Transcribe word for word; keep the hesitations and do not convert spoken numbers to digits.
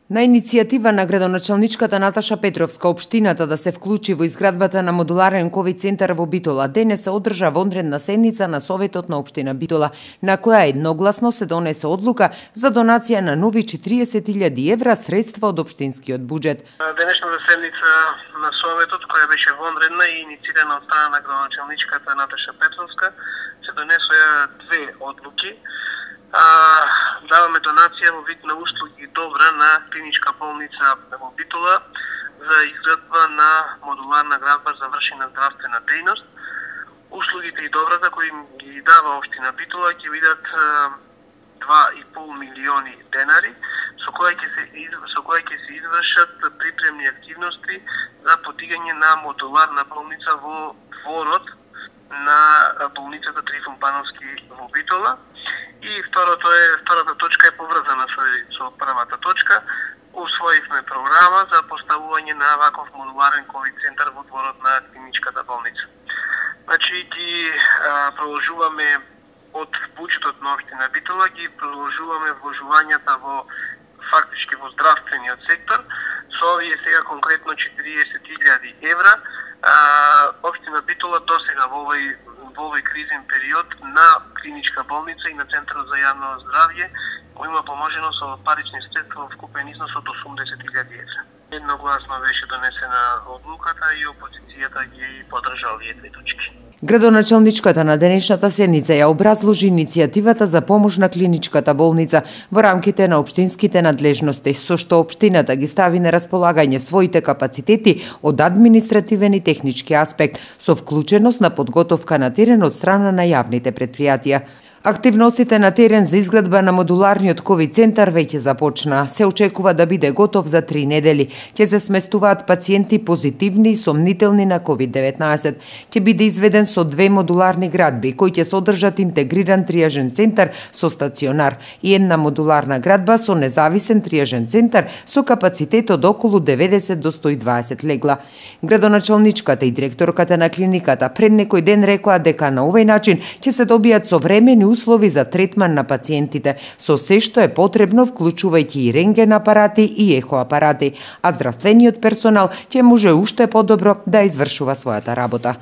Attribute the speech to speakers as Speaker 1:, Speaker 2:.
Speaker 1: На иницијатива на градоначалничката Наташа Петровска, општината да се вклучи во изградбата на модуларен ковид центар во Битола, денес се одржа вонредна седница на Советот на општина Битола, на која едногласно се донесе одлука за донација на нови четириесет илјади евра средства од општинскиот буџет.
Speaker 2: Денешната седница на Советот, која беше вонредна и инициирана од страна на градоначалничката Наташа Петровска, се донесоа две одлуки. Даваме донација во вид на услуги добра на клиничка болница во Битола за изградба на модуларна градба за вршена здравствена дејност. Услугите и добрата кои ги дава општина Битола ќе бидат два и пол милиони денари, со кои ќе се со кои ќе се извршат припремни активности за подигање на модуларна болница во дворот на болницата Трифун Пановски во Битола. И второто е, втората точка е поврзана со, со првата точка. Усвоивме програма за поставување на ваков модуларен ковид центар во дворот на клиничката болница. Значи ги а, продолжуваме од буџетот на општина Битола, ги продолжуваме вложувањата во фактички во здравствениот сектор со овие сега конкретно четириесет илјади евра. А, општина Битола досега во овој во овој кризен период на клиничка болница и на Центарот за јавно здравје кој има поможено со парични средства во вкупен износ од осумдесет илјади евра. Едногласно беше донесена одлуката и опозицијата ги поддржа овие две точки.
Speaker 1: Градоначалничката на денешната седница ја образложи иницијативата за помош на клиничката болница во рамките на општинските надлежности, со што општината ги стави на располагање своите капацитети од административен и технички аспект, со вклученост на подготовка на терен од страна на јавните претпријатија. Активностите на терен за изградба на модуларниот ковид центар веќе започна. Се очекува да биде готов за три недели. Ќе се сместуваат пациенти позитивни и сомнителни на ковид деветнаесет. Ќе биде изведен со две модуларни градби, кои ќе содржат интегриран триажен центар со стационар и една модуларна градба со независен триажен центар со капацитет од околу деветдесет до сто и дваесет легла. Градоначалничката и директорката на клиниката пред некој ден рекоа дека на овој начин ќе се добијат современи услови за третман на пациентите, со се што е потребно, вклучувајќи и рентген апарати и ехо апарати, а здравствениот персонал ќе може уште подобро да извршува својата работа.